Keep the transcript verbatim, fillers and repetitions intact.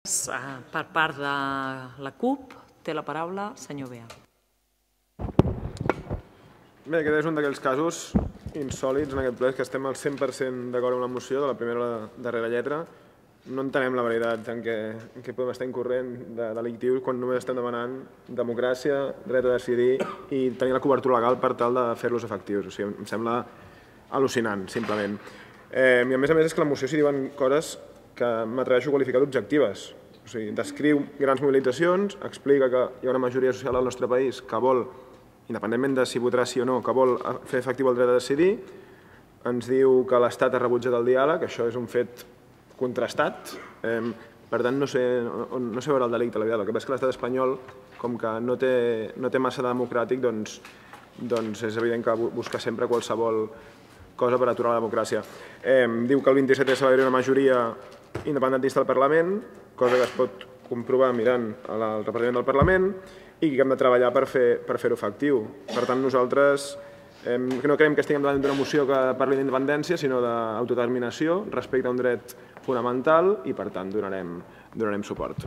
Per part de la CUP, té la paraula el senyor Bea. Bé, aquest és un d'aquells casos insòlits en aquest ple, que estem al cent per cent d'acord amb la moció, de la primera a la darrera lletra. No entenem la veritat en què podem estar incorrent de delictius quan només estem demanant democràcia, dret a decidir i tenir la cobertura legal per tal de fer-los efectius. O sigui, em sembla al·lucinant, simplement. I a més a més és que la moció s'hi diuen coses que m'atreveixo a qualificar d'objectives. O sigui, descriu grans mobilitzacions, explica que hi ha una majoria social al nostre país que vol, independentment de si votarà sí o no, que vol fer efectiu el dret a decidir, ens diu que l'Estat ha rebutjat el diàleg, això és un fet contrastat, per tant no sé veure el delicte, la veritat. El que passa és que l'estat espanyol, com que no té massa democràtic, doncs és evident que busca sempre qualsevol cosa per aturar la democràcia. Diu que el vint-i-set s'ha d'haver una majoria independentista al Parlament, cosa que es pot comprovar mirant el representant del Parlament, i que hem de treballar per fer-ho efectiu. Per tant, nosaltres no creiem que estiguem davant d'una moció que parli d'independència, sinó d'autodeterminació respecte a un dret fonamental i, per tant, donarem suport.